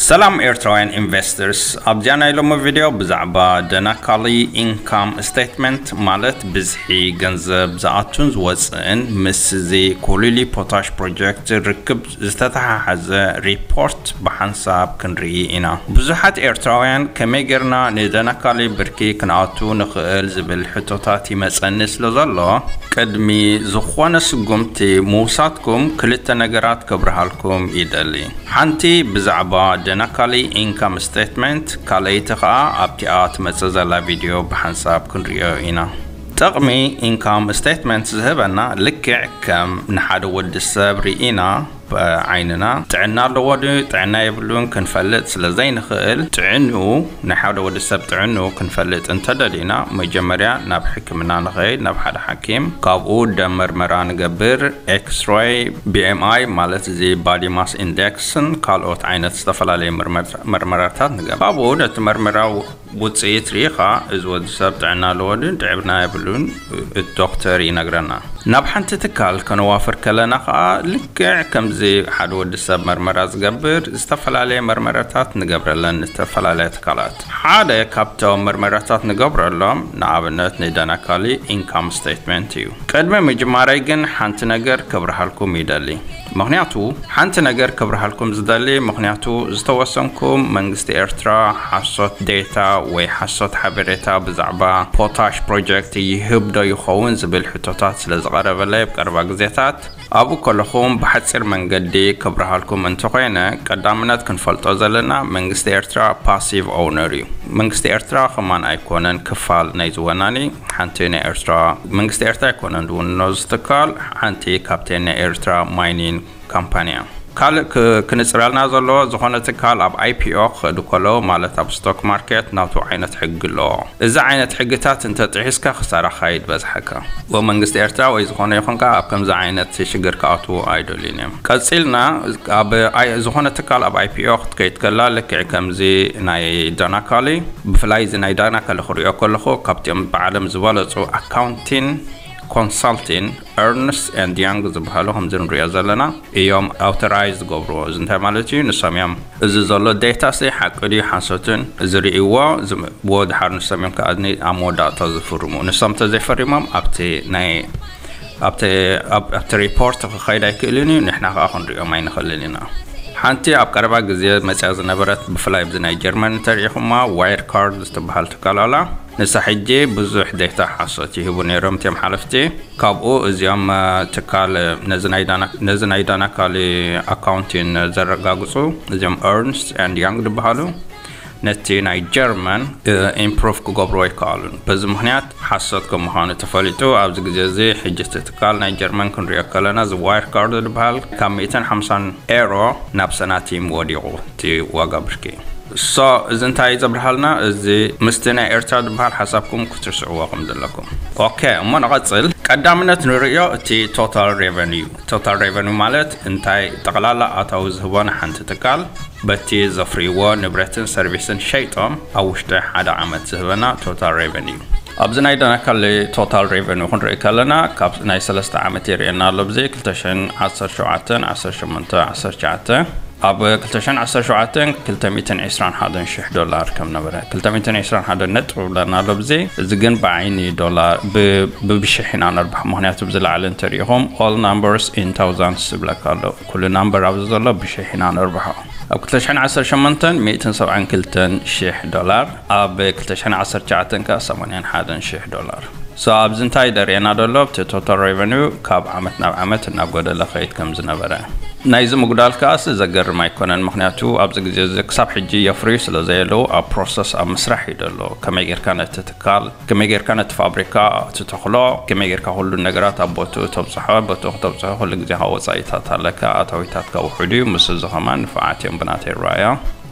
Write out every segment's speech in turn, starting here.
ሰላም ኤርትራውያን ኢንቨስተርስ፣ ኣብዚኣ ናይ ሎሚ ቪድዮ ብዛዕባ ደናካሊ ኢንካም ስቴትመንት፣ ማለት ብዝሒ ገንዘብ ዝኣቱን ዝወፅእን፣ ምስዚ ኮሊሊ ፖታሽ ፕሮጀክት ርክብ ዝተተሓሓዘ ሪፖርት ብሓንሳብ ክንርኢ ኢና። ብዙሓት ኤርትራውያን ከመይ ጌርና ንደናካሊ ብርኪ ክንኣቱ ንኽእል ዝብል ሕቶታት ይመፀኒ ስለ ዘሎ፣ ቅድሚ ዝኾነ ስጉምቲ ምውሳድኩም ክልተ ነገራት ከብርሃልኩም ይደሊ። ሓንቲ ብዛዕባ ደናካሊ ኢንካም ስቴትመንት፣ ካልኣይቲ ኸኣ ኣብቲኣ ትመጽእ ዘላ ቪድዮ ብሓንሳብ ክንርእዮ ኢና። ጥቕሚ ኢንካም ስቴትመንት ዝህበና ልክዕ ከም ንሓደ ወዲ ሰብ ርኢና ብዓይንና ጥዕና ኣለዎ ድዩ ጥዕና የብሉን ክንፈልጥ ስለ ዘይንኽእል፣ ጥዕንኡ፣ ናይ ሓደ ወዲ ሰብ ጥዕንኡ ክንፈልጥ እንተደሊና፣ መጀመርያ ናብ ሕክምና ንኸይድ፣ ናብ ሓደ ሓኪም። ካብኡ ደም መርመራ ንገብር፣ ኤክስሬይ፣ ቢ ኤም ኣይ ማለት እዚ ባዲ ማስ ኢንዴክስን ካልኦት ዓይነት ዝተፈላለዩ መርመር-፣ መርመራታት ንገብር። ካብኡ ነቲ መርመራ ውፅኢት ርኢኻ፣ እዚ ወዲ ሰብ ጥዕና ኣለዎ ድን ጥዕና የብሉን፣ እቲ ዶክተር ይነግረና። ናብ ሓንቲ ትካል ከነዋፍር ከለና ኸዓ፣ ልክዕ ከምዚ ሓደ ወዲ ሰብ መርመራ ዝገብር፣ ዝተፈላለየ መርመራታት ንገብረለን ዝተፈላለያ ትካላት። ሓደ ካብቶም መርመራታት ንገብረሎም፣ ንኣብነት ንደናካሊ ኢንካም ስቴትመንት እዩ። ቅድሚ ምጅማረይ ግን ሓንቲ ነገር ክብርሃልኩም ይደሊ። ምኽንያቱ፣ ሓንቲ ነገር ክብርሃልኩም ዝደሊ፣ ምኽንያቱ ዝተወሰንኩም መንግስቲ ኤርትራ ሓሶት ዴታ ወይ ሓሶት ሓበሬታ ብዛዕባ ፖታሽ ፕሮጀክት ይህብ ዶ ይኸውን ዝብል ሕቶታት ስለ ዝቐረበለይ፣ ኣብ ቀረባ ግዜታት ኣብኡ ከለኹም ብሓጺር መንገዲ ክብርሃልኩም እንተኾይነ፣ ቀዳምነት ክንፈልጦ ዘለና መንግስቲ ኤርትራ ፓሲቭ ኦውነር እዩ። መንግስቲ ኤርትራ ከማን ኣይኮነን ክፋል ናይዚ ወናኒ። ሓንቲ ናይ ኤርትራ መንግስቲ ኤርትራ ኣይኮነን ዝውንኖ እዚ ትካል፣ ሓንቲ ካብተን ናይ ኤርትራ ማይኒንግ ካምፓኒ እያ። ካልእ ክ-፣ ክንጽረልና ዘለዎ፣ ዝኾነ ትካል ኣብ ኣይ ፒ ኦ ክኸዱ ከለዉ፣ ማለት ኣብ ስቶክ ማርኬት፣ ናቱ ዓይነት ሕጊ ኣለዎ። እዚ ዓይነት ሕግታት እንተጥሒስካ ክሳራኻ እዩ ዝበዝሓካ። ወይ መንግስቲ ኤርትራ ወይ ዝኾነ ይኹን ከኣ ኣብ ከምዚ ዓይነት ሽግር ክኣትዉ ኣይደልዩን እዮም። ቀጺልና ኣብ ኣይ-፣ ዝኾነ ትካል ኣብ ኣይ ፒ ኦ ክትከይድ ከላ ልክዕ ከምዚ ናይ ዳናካሊ፣ ብፍላይ እዚ ናይ ዳናካሊ ክሪኦ ከለኹ ካብቲኦም ብዓለም ዝበለጹ ኣካውንቲን ኮንሳልቲን ኤርንስት ኤንድ ያንግ ዝበሃሉ ከምዚ ንሪኦ ዘለና እዮም ኣውቶራይዝ ዝገብርዎ። እዚ እንታይ ማለት እዩ? ንሶም እዮም እዚ ዘሎ ዴታ ሲ ሓቂ ድዩ ሓሶትን ዝርእይዎ፣ ዝም-፣ ብወድሓር ንሶም እዮም ከኣ ኣብ መወዳእታ ዝፍርሙ። ንሶም እንተዘይፈሪሞም ኣብቲ ናይ፣ ኣብቲ፣ ኣብ-፣ ኣብቲ ሪፖርት ክኸይድ ኣይክእልን እዩ፣ ንሕና ከኣ ክንሪኦም ኣይንኽእልን ኢና። ሓንቲ ኣብ ቀረባ ግዜ መጽያ ዝነበረት፣ ብፍላይ ኣብዚ ናይ ጀርመን እንተሪኢኹማ፣ ዋይር ካርድ ዝትበሃል ትካል ኣላ። ንሳ ሕጂ ብዙሕ ዴታ ሓሶት ይህቡ ነይሮም እቲኦም ሓለፍቲ። ካብኡ እዚኦም፣ እ፣ ትካል፣ እ፣ ነዚ ናይ ዳና-፣ ነዚ ናይ ዳናካሊ ኣካውንቲን ዘረጋግጹ፣ እዚኦም ኤርንስት ኤንድ ያንግ ዝበሃሉ፣ ነቲ ናይ ጀርመን፣ እ፣ ኢምፕሩቭ ክገብርዎ ኣይከኣሉን። በዚ ምኽንያት ሓሶት ከም ምዃኑ ተፈሊጡ፣ ኣብዚ ግዜ እዚ ሕጂ እቲ ትካል ናይ ጀርመን ክንሪኦ ከለና፣ እዚ ዋይር ካርድ ዝበሃል ካብ ሚእትን ሓምሳን ኤሮ ናብ ሰናቲም ወዲቑ እቲ ዋጋ ብርኪ። ሶ፣ እዚ እንታይ እዩ ዘብርሃልና? እዚ ምስቲ ናይ ኤርትራ ዝበሃል ሓሳብኩም ክትርስዕዎ ከም ዘለኩም። ኦኬ፣ እሞ ንቐጽል። ቀዳምነት ንርእዮ እቲ ቶታል ሬቨኒዩ። ቶታል ሬቨኒዩ ማለት እንታይ ጠቕላላ ኣታዊ ዝህቦ ንሓንቲ ትካል በቲ ዘፍርይዎ ንብረትን ሰርቪስን ሸይጦም ኣብ ውሽጢ ሓደ ዓመት ዝህበና ቶታል ሬቨኒዩ። ኣብዚ ናይ ዳናካሊ ቶታል ሬቨኒዩ ክንርኢ ከለና ካብ ናይ ሰለስተ ዓመት የርእየና ኣሎ። ብዚ ክልተ ሽሕን ዓሰርተ ሸውዓተን፣ ዓሰርተ ሸሞንተ፣ ዓሰርተ ትሽዓተ ኣብ ክልተ ሽሕን ዓሰርተ ሸውዓተን ክልተ ሚእትን ዕስራን ሓደን ሽሕ ዶላር ከም ነበረ፣ ክልተ ሚእትን ዕስራን ሓደን ነጥቢ ብለና ኣሎ። ብዚ እዚ ግን ብዓይኒ ዶላር ብ-፣ ብብሽሕ ኢና ነርብሖ። ምኽንያቱ ብዚ ላዕሊ እንተሪኢኹም all numbers in thousands ዝብለካ ኣሎ። ኩሉ ናምበር ኣብዚ ዘሎ ብሽሕ ኢና ነርብሖ። ኣብ ክልተ ሽሕን ዓሰርተ ሸሞንተን ሚእትን ሰብዓን ክልተን ሽሕ ዶላር፣ ኣብ ክልተ ሽሕን ዓሰርተ ትሽዓተን ከኣ ሰማንያን ሓደን ሽሕ ዶላር። ሶ ኣብዚ እንታይ ደርእየና ዘሎ? እቲ ቶታል ሬቨኒዩ ካብ ዓመት ናብ ዓመት እናጎደለ ኸይድ ከም ዝነበረ። ናይዚ ምጉዳል ከኣስ ዘገርም ኣይኮነን፣ ምኽንያቱ ኣብዚ ግዜ እዚ ክሳብ ሕጂ የፍርዩ ስለ ዘየለዉ ኣብ ፕሮሰስ ኣብ ምስራሕ እዩ ዘሎ። ከመይ ጌርካ ነቲ ትካል፣ ከመይ ጌርካ ነቲ ፋብሪካ ትተኽሎ፣ ከመይ ጌርካ ኩሉ ነገራት ኣብ ቦትኡ ተብጽሖ፣ ቦትኡ ክተብጽሖ ኩሉ ግዜ ካብ ወጻኢታት ኣለካ፣ ኣታዊታትካ ውሑድ እዩ። ምስ እዚ ኸማን ንፉዓት እዮም ብናተይ ረኣያ።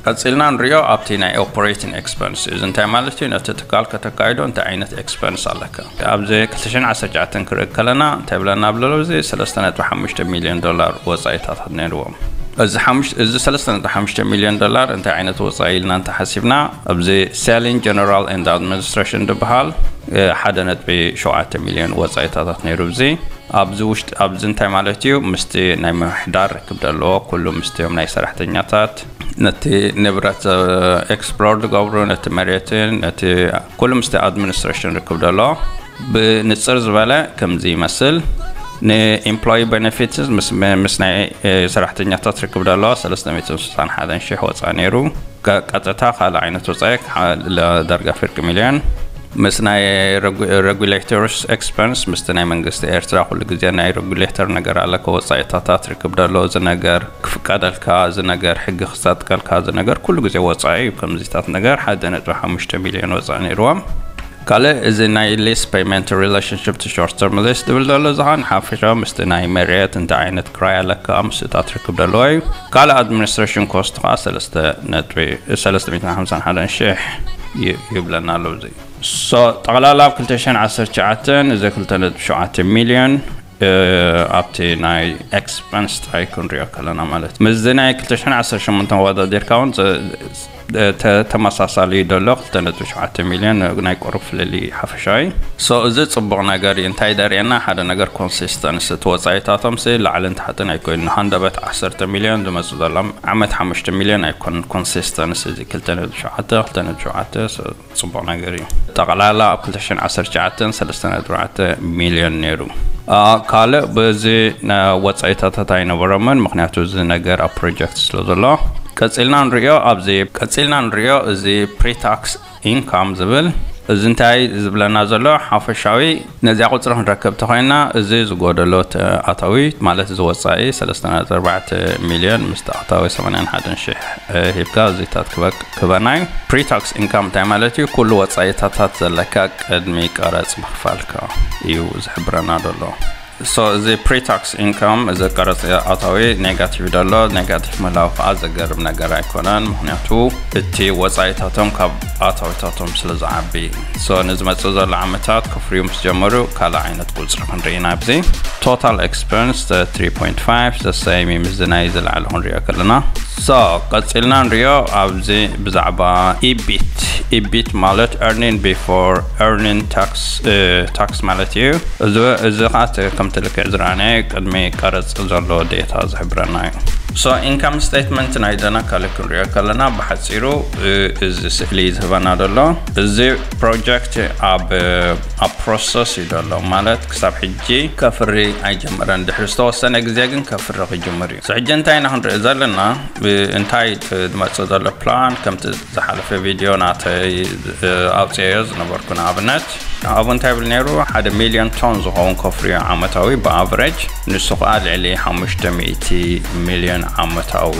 ቀጺልና ንሪኦ ኣብቲ ናይ ኦፐሬቲንግ ኤክስፐንስ። እዚ እንታይ ማለት እዩ? ነቲ ትካል ከተካይዶ እንታይ ዓይነት ኤክስፐንስ ኣለካ? ኣብዚ ክልተ ሽሕን ዓሰርተ ትሽዓተን ክርኢ ከለና እንታይ ብለና ብለሎ? እዚ ሰለስተ ነጥቢ ሓሙሽተ ሚልዮን ዶላር ወጻኢታት ነይርዎም። እዚ ሓሙሽ- እዚ ሰለስተ ነጥቢ ሓሙሽተ ሚልዮን ዶላር እንታይ ዓይነት ወፃኢ ኢልና እንተሓሲብና፣ ኣብዚ selling general and administration ዝበሃል ሓደ ነጥቢ ሸውዓተ ሚልዮን ወፃኢታታት ነይሩ። እዚ ኣብዚ ውሽጢ ኣብዚ እንታይ ማለት እዩ? ምስቲ ናይ ምምሕዳር ርክብ ዘለዎ ኩሉ ምስቲኦም ናይ ሰራሕተኛታት፣ ነቲ ንብረት ኤክስፕሎር ዝገብሩ፣ ነቲ መሬትን ነቲ ኩሉ ምስቲ ኣድሚኒስትሬሽን ርክብ ዘለዎ ብንፅር ዝበለ ከምዚ ይመስል። ንኤምፕሎይ ቤኔፊትስ ምስ ናይ ሰራሕተኛታት ርክብ ዘለዎ ሰለስተ ሚእትን ስሳን ሓደን ሽሕ ወፃ ነይሩ። ቀጥታ ካልእ ዓይነት ወፃኢ ዳርጋ ፍርቂ ሚልዮን። ምስ ናይ ሬጉሌተርስ ኤክስፐንስ ምስቲ ናይ መንግስቲ ኤርትራ ኩሉ ግዜ ናይ ሬጉሌተር ነገር ኣለካ። ወፃኢታታት ርክብ ደሎ እዚ ነገር ክፍቀደልካ እዚ ነገር ሕጊ ክሳጥቀልካ እዚ ነገር ኩሉ ግዜ ወፃኢ እዩ። ከምዚታት ነገር ሓደ ነጥቢ ሓሙሽተ ሚልዮን ወፃኢ ነይርዎም። ካልእ እዚ ናይ ሊስ ፔመንት ሪሌሽንሽፕ ቱ ሾርት ተርም ሊስ ዝብል ዘሎ ዝኻን ሓፈሻዊ ምስቲ ናይ መሬት እንታይ ዓይነት ክራይ ኣለካ ምስታት ርክብ ዘለዎ እዩ። ካልእ ኣድሚኒስትሬሽን ኮስት ከዓ ሰለስተ ሚእትን ሓምሳን ሓደን ሽሕ ይብለና ኣሎ። እዚ ሶ ጠቕላላ ኣብ ክልተ ሽሕን ዓሰርተ ትሽዓተን እዚ ክልተ ነጥቢ ሸውዓተ ሚልዮን ኣብቲ ናይ ኤክስፐንስ ጥራይ ክንሪኦ ከለና ማለት ምስዚ ናይ ክልተ ሽሕን ዓሰርተ ሸሞንተን ወዳዲርካ እውን ተመሳሳሊ ደሎ ክልተ ነጥቢ ሸውዓተ ሚልዮን ናይ ቁሩብ ፍልልይ ሓፈሻዊ። ሶ እዚ ፅቡቕ ነገር እዩ። እንታይ ደርእየና? ሓደ ነገር ኮንሲስተንስ እቲ ወፃኢታቶም ሲ ላዕልን ታሕትን ኣይኮይኑ። ሃንደበት ዓሰርተ ሚልዮን ዝመፁ ዘሎም ዓመት ሓሙሽተ ሚልዮን ኣይኮኑን። ኮንሲስተንስ እዚ ክልተ ነጥቢ ሸውዓተ ክልተ ነጥቢ ሸውዓተ ጽቡቕ ነገር እዩ። ጠቕላላ ኣብ ክልተ ሽሕን ዓሰርተ ትሽዓተን ሰለስተ ነጥቢ ኣርባዕተ ሚልዮን ነይሩ። ካልእ በዚ ወጻኢታታት ኣይነበሮምን፣ ምኽንያቱ እዚ ነገር ኣብ ፕሮጀክት ስለ ዘሎ። ቀጺልና ንሪኦ ኣብዚ ቀጺልና ንሪኦ እዚ ፕሪታክስ ኢንካም ዝብል እዚ እንታይ ዝብለና ዘሎ ሓፈሻዊ ነዚኣ ቁጽሪ ክንረክብ ተኾይና እዚ ዝጎደሎ ኣታዊ ማለት እዚ ወጻኢ ሰለስተ ነጥቢ ኣርባዕተ ሚልዮን ምስቲ ኣታዊ ሰማንያን ሓደን ሽሕ ሂብካ እዚታት ክበናይ ፕሪታክስ ኢንካም እንታይ ማለት እዩ? ኩሉ ወጻኢታታት ዘለካ ቅድሚ ቀረጽ ምኽፋልካ እዩ ዝሕብረና ዘሎ። ሶ እዚ ፕሪታክስ ኢንካም እዚ ቀረጽ ኣታዊ ኔጋቲቭ ደሎ ኔጋቲቭ ምህላው ከዓ ዘገርም ነገር ኣይኮነን። ምክንያቱ እቲ ወጻኢታቶም ካብ ኣታዊታቶም ስለ ዝዓቢ። ሶ ንዝመጽእ ዘሎ ዓመታት ክፍርዩ ምስ ጀመሩ ካልእ ዓይነት ቁጽሪ ክንርኢ ኢና። ኣብዚ ቶታል ኤክስፐንስ ትሪ ፖይንት ፋይቭ ዘሰይም እዩ ምስዚ ናይ ዝለዓለ ክንሪኦ ከለና። ሶ ቀጺልና ንሪኦ ኣብዚ ብዛዕባ ኢቢት። ኢቢት ማለት earning before earning tax ማለት እዩ። እዚ ከዓ ከምቲ ልክዕ ዝረኣናዮ ቅድሚ ቀረጽ ዘሎ ዴታ ዝሕብረና እዩ። ሶ ኢንካም ስቴትመንት ናይ ደና ካልእ ክንሪኦ ከለና ብሓጺሩ እዚ ስእሊ ዝህበና ዘሎ እዚ ፕሮጀክት ኣብ ኣብ ፕሮሰስ እዩ ዘሎ ማለት ክሳብ ሕጂ ከፍሪ ኣይጀመረን። ድሕሪ ዝተወሰነ ግዜ ግን ከፍሪ ክጅምር እዩ። ሕጂ እንታይ ኢና ክንርኢ ዘለና እንታይ ዝመጽእ ዘሎ ፕላን ከምቲ ዝሓለፈ ቪድዮ ናተይ ኣውፅአዮ ዝነበርኩ ንኣብነት ኣብኡ እንታይ ይብል ነይሩ ሓደ ሚልዮን ቶን ዝኸውን ኮፍርዮ ዓመታዊ ብኣቨሬጅ ንሱ ከዓ ልዕሊ ሓሙሽተ ሚእቲ ሚልዮን ዓመታዊ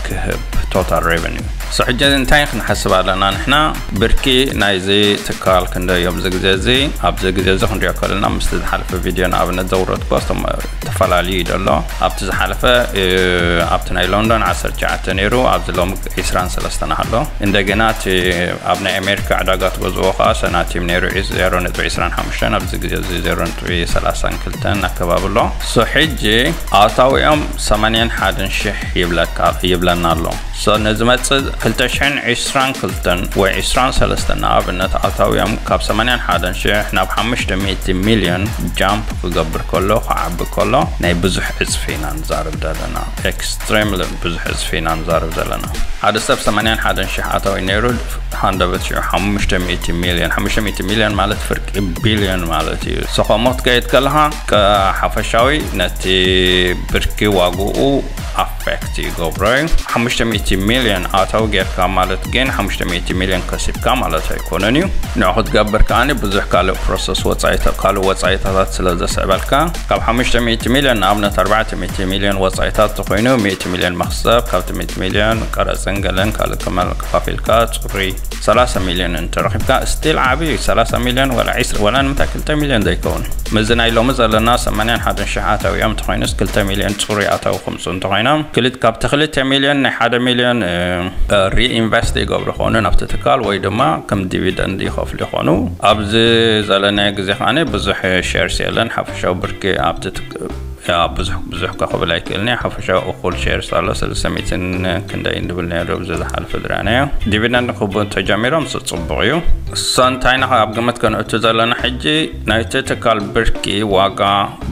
ክህብ ቶታል ሬቨኒው። ሕጂ እንታይ ክንሓስብ ኣለና ንሕና ብርኪ ናይዚ ትካል ክንደዮም እዚ ግዜ እዚ ኣብዚ ግዜ እዚ ክንሪኦ ከለና ምስቲ ዝሓለፈ ቪድዮ ንኣብነት ዘውረድኩ ተፈላለዩ እዩ ዘሎ ኣብቲ ዝሓለፈ ኣብቲ ናይ ሎንዶን ዓሰርተ ትሽዓተ ነይሩ ኣብዚ ሎም ዒስራን ሰለስተን ኣሎ። እንደገና እቲ ኣብ ናይ ኣሜሪካ ዕዳጋ ትገዝዎ ከዓ ሰናቲም ነይሩ ዜሮ ነጥቢ ዒስራን ሓሙሽተን ኣብዚ ግዜ እዚ ዜሮ ነጥቢ ሰላሳን ክልተን ኣከባቢ ኣሎ። ሶ ሕጂ ኣታዊኦም ሰማንያን ሓደን ሽሕ ይብለካ ይብለና ኣሎ። ሶ ንዝመፅእ ክልተ ሽሕን ዒስራን ክልተን ወይ ዒስራን ሰለስተን ንኣብነት ኣታዊኦም ካብ ሰማንያን ሓደን ሽሕ ናብ ሓሙሽተ ሚእቲ ሚልዮን ጃምፕ ክገብር ከሎ ክዓቢ ከሎ ናይ ብዙሕ ዕፅፊ ኢና ንዛረብ ዘለና። ኤክስትሪምሊ ብዙሕ ዕፅፊ ኢና ንዛረብ ዘለና። ሓደ ሰብ ሰማንያን ሓደን ሽሕ ኣታዊ ነይሩ ሃንደበት ሽዑ ሓሙሽተ ሚእቲ ሚልዮን ሓሙሽተ ሚእቲ ሚልዮን ማለት ፍርቂ ቢልዮን ማለት እዩ። ሰኸሞት ከይድ ከለኻ ሓፈሻዊ ነቲ ብርኪ ዋግኡ ኣፌክት ይገብሮ እዩ። ሓሙሽተ ሚእቲ ሚልዮን ኣታዊ ጌርካ ማለት ግን ሓሙሽተ ሚእቲ ሚልዮን ከሲብካ ማለት ኣይኮነን እዩ። ንዑ ክትገብር ከዓኒ ብዙሕ ካልእ ፕሮሰስ ወፃኢታ ካልእ ወፃኢታታት ስለ ዘስዕበልካ ካብ ሓሙሽተ ሚእቲ ሚልዮን ንኣብነት ኣርባዕተ ሚእቲ ሚልዮን ወፃኢታት ተኮይኑ ሚእቲ ሚልዮን መክሰብ ካብቲ ሚእቲ ሚልዮን ቀረፅን ገለን ካልእ ከፋፊልካ ፅሩይ ሰላሳ ሚልዮን እንተረኺብካ ስቲል ዓብዪ እዩ። ሰላሳ ሚልዮን ወላ ዒስራ ወላ ንምንታይ ክልተ ሚልዮን ዘይከውን ምስዚ ናይ ሎሚ ዘለና ሰማንያን ሓደን ሽሕ ኣታዊ እዮም እንተኮይኑስ ክልተ ሚልዮን ፅሩይ ኣታዊ ክምፁ እንተኮይኖም ክልት ካብቲ ክልተ ሚልዮን ናይ ሓደ ሚልዮን ሪኢንቨስት ይገብሩ ከሆኑ ናብቲ ትካል ወይ ድማ ከም ዲቪደንድ ይኸፍሉ ይኾኑ። ኣብዚ ዘለናዮ ግዜ ከዓኒ ብዙሕ ሼርስ የለን ሓፈሻዊ ብርኪ ኣብቲ ያ ብዙሕ ብዙሕ ከኽብል ኣይክእልን እየ። ሓፈሻዊ እኹል ሼርስ ኣሎ፣ ሰለስተ ሚእትን ክንደይ እንድብል ነይሩ ኣብዚ ዝሓለፈ ዝረኣናዮ። ዲቪደንድ ክህቡ ተጀሚሮም፣ እሱ ጽቡቕ እዩ። እሶ እንታይ ኢና ኣብ ግምት ከነእቱ ዘለና ሕጂ፣ ናይቲ ትካል ብርኪ ዋጋ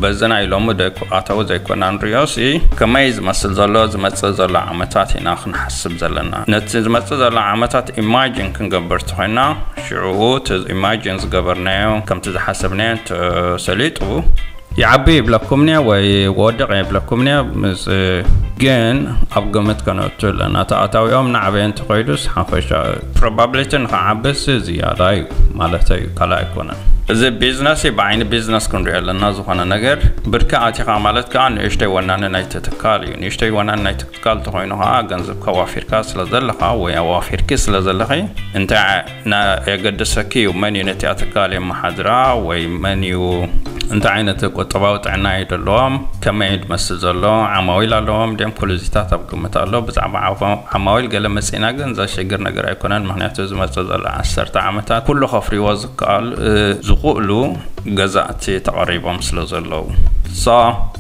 በዚ ናይ ሎሚ ደይኮ-፣ ኣታዊ ዘይኮና ንሪኦ ሲ፣ ከመይ ዝመስል ዘሎ ዝመጽእ ዘሎ ዓመታት ኢና ክንሓስብ ዘለና። ነቲ ዝመጽእ ዘሎ ዓመታት ኢማጂን ክንገብር ተኾይና፣ ሽዑ እቲ ኢማጂን ዝገበርናዮ ከምቲ ዝሓሰብናዮ እንተሰሊጡ፣ ይዓቢ ይብለኩም እኒአ ወይ ወድቕ ይብለኩም እኒአ፣ ምስ ግን ኣብ ግምት ከነእቱ ኣለና። እቲ ኣታዊኦም ናዕበየ እንተኸይዱስ ሓፈሻ ፕሮባብሊቲ ንኽዓብስ ዝያዳ እዩ ማለት እዩ፣ ካልእ ኣይኮነን። እዚ ቢዝነስ እዩ፣ ብዓይኒ ቢዝነስ ክንሪኦ ኣለና። ዝኾነ ነገር ብርኪ ኣቲኻ ማለት ከዓ ንእሽተይ ወናኒ ናይቲ ትካል እዩ። ንእሽተይ ወናኒ ናይቲ ትካል እንተኾይኑ ከዓ ገንዘብካ ዋፊርካ ስለ ዘለኻ ወይ ኣዋፊርኪ ስለ ዘለኺ እንታይ ና-፣ የገድሰኪ እዩ? መን እዩ ነቲኣ ትካል የመሓድራ ወይ መን እዩ፣ እንታይ ዓይነት ቁጠባዊ ጥዕና እዩ ዘለዎም፣ ከመይ እዩ ዝመስል ዘሎ፣ ዓማዊል ኣለዎም ድዮም፣ ኩሉ እዚታት ኣብ ግምት ኣሎ። ብዛዕባ ዓፋ-፣ ዓማዊል ገለ መጺእና ግን ዘሸግር ነገር ኣይኮነን፣ ምኽንያቱ ዝመጽእ ዘሎ ዓሰርተ ዓመታት ኩሉ ከፍርይዎ ዝከኣል፣ እ፣ ዝኽእሉ ገዛእቲ ተቐሪቦም ስለ ዘለዉ። So፣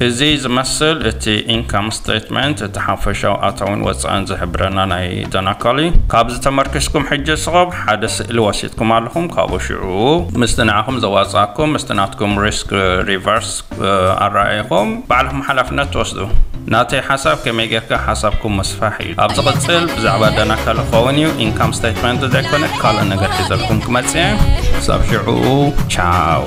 እዚ ዝመስል እቲ ኢንካም ስቴትመንት፣ እቲ ሓፈሻዊ ኣታውን ወጻእን ዝሕብረና ናይ ደናካሊ። ካብዚ ተመርኪስኩም ሕጂ ስኸብ ሓደ ስእሊ ወሲድኩም ኣለኹም፣ ካብኡ ሽዑ ምስቲ ንዓኹም ዘዋጻእኩም፣ ምስቲ ናትኩም ሪስክ ሪቨርስ፣ እ፣ ኣረኣኢኹም ባዕልኹም ሓላፍነት ትወስዱ። ናተይ ሓሳብ ከመይ ጌርካ ሓሳብኩም ምስፋሕ እዩ። ኣብ ዝቕጽል ብዛዕባ ደናካሊ ክኸውን እዩ። ኢንካም ስቴትመንት ዘይኮነ ካልእ ነገር ሒዘልኩም ክመጽእ እየ። ክሳብ ሽዑ፣ ቻው።